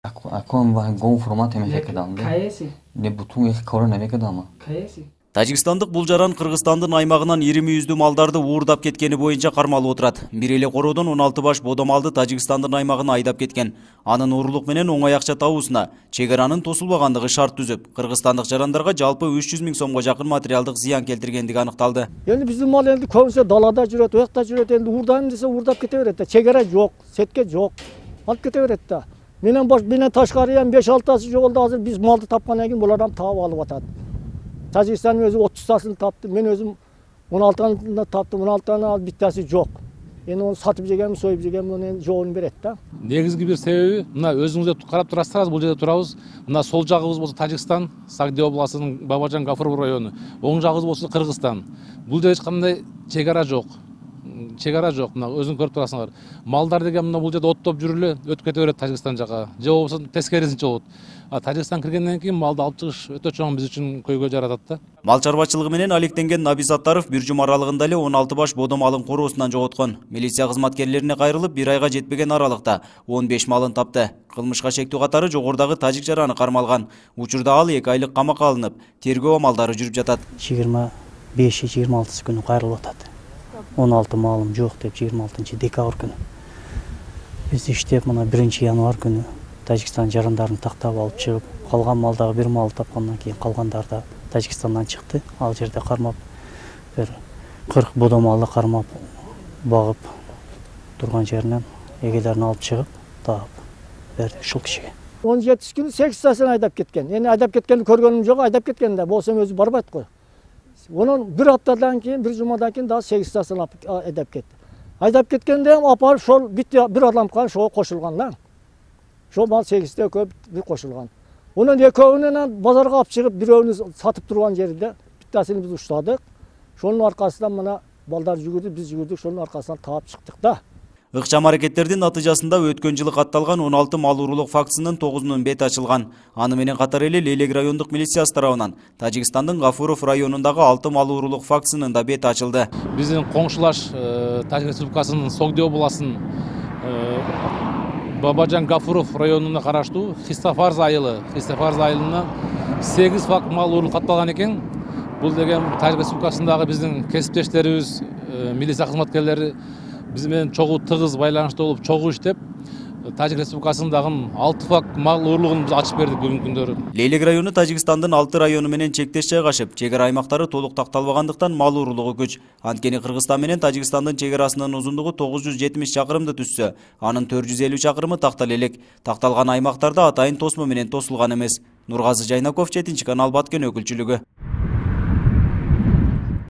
Algum formato me quedando. KS. Ne butun ek korona me quedama. KS. Тажикстандык бул жаран Кыргызстандын аймагынан 20 мaldарды уурдап кеткени боюнча кармалып отурат. Бир эле короодон 16 баш бодомалды Тажикстандын аймагына айдап кеткен. Анын уурулук менен оңой акча табуусуна чек аранын тосулбагандыгы шарт түзүп, кыргызстандык жарандарга жалпы 300 000 сомго жакын материалдык зыян келтиргендиги аныкталды. Эми биздин мал энди көбүнчө далада жүрөт, уякта жүрөт, энди уурдайм десе уурдап кете берет да. Чек ара жок, сетке жок. Алып кете берет да. Менен ташкары эми 5-6тасы жоголду, азыр биз малды тапкандан кийин булардан таап алып атат. Тажикстандын өзү 30тасын тапты, мен өзүм 16таны таптым, 16таны алып биттаси жок. Эми onu сатып жегем, союп жегем, onu жоогун берет да. Негизги бир себеби, мына өзүңүздөр карап турасыздар, бул жерде турабыз. Мына сол жагыбыз болсо Тажикстан, Сагдия областынын Бабажан Гафуров району. Оң жагыбыз болсо Кыргызстан. Бул жерде эч кандай чек ара жок. Чек ара жок, мына өзүң көрүп турасыңар. Малдар деген мына бул жерде оттоп жүрүлө, өтүп кете берет Тажикстан жака. Же болбосо тескерисинче болот. Тажикстан киргенден кийин малды алып чыгыш өтө чоң биз үчүн көйгөй жаратат да. Мал чарбачылыгы менен алектенген Наби Саттаров бир жума аралыгында эле 16 баш бодомалын короосунан жоготкон. Милиция кызматкерлерине кайрылып, бир айга жетпеген аралыкта 15 малын тапты. Кылмышка шектүү катары жогорудагы тажик жараны кармалган. Учурда ал 2 айлык камакка алынып, тергөө амалдары жүрүп жатат. 25-26 күнү кайрылып атат. 16 малым жок деп 26 декабрь күнү. Биз иштеп мына 1 январь күнү Тажикстан жарандарын тактап алып чыгып, калган малдагы бир мал тапкандан кийин калгандар да Тажикстандан чыкты. Ал жерде кармап бир 40 бодомалды кармап багып турган жеринен эгелерин алып чыгып, таап берди ушул кишиге. 17 күнү 8тасын айдап кеткен. Эми айдап кеткенди көргөнүм жок, айдап кеткен да, болсо өзү барбайт го. Онун бир аптадан кийин, бир жумадан кийин дагы 8тасын айдап кетти. Айдап кеткенде апарып ошол бир адам калган, ошого кошулган да. Шол мал 8те көп бир кошулган. Онун экөөнүн базарга алып чыгып, бирөөнү сатып турган жерде биттасын биз уштадык. Шонун аркасынан мына балдар жүгүрдү, биз жүгүрдүк, шонун аркасынан таап чыктык да. Ыкчам аракеттердин натыйжасында өткөн жылы катталган 16 мал уурулук фактысынын 9-унун бети ачылган. Аны менен катар эле Лелек райондук милициясы тарабынан Тажикстандын Гафуров районундагы 6 мал уурулук фактысынын да бети ачылды. Биздин коңшулаш Тажик Республикасынын Согдия областынын Бабажан Гафуров районуна караштуу Хистафарз айылына 8 факт мал уурулук катталган экен. Бул деген Тажик Республикасындагы биздин кесиптештерибиз, милиция кызматкерлери биз менен чогуу тыгыз байланышта болуп, чогуу иштеп, Тажик Республикасындагы 6 факт мал уурулугун биз ачып бердик бүгүнкү күндөрү. Лелек району Тажикстандын 6 району менен чектеш жайгашып, чек ара аймактары толук такталбагандыктан мал уурулугу көч. Анткени Кыргызстан менен Тажикстандын чек арасынын узундугу 970 чакырымды түзсө, анын 450 чакырымы тактал элек. Такталган аймактарда атайын тосмо менен тосулган эмес. Нургазы Жайнаков, 7 канал Баткен өкүлчүлүгү.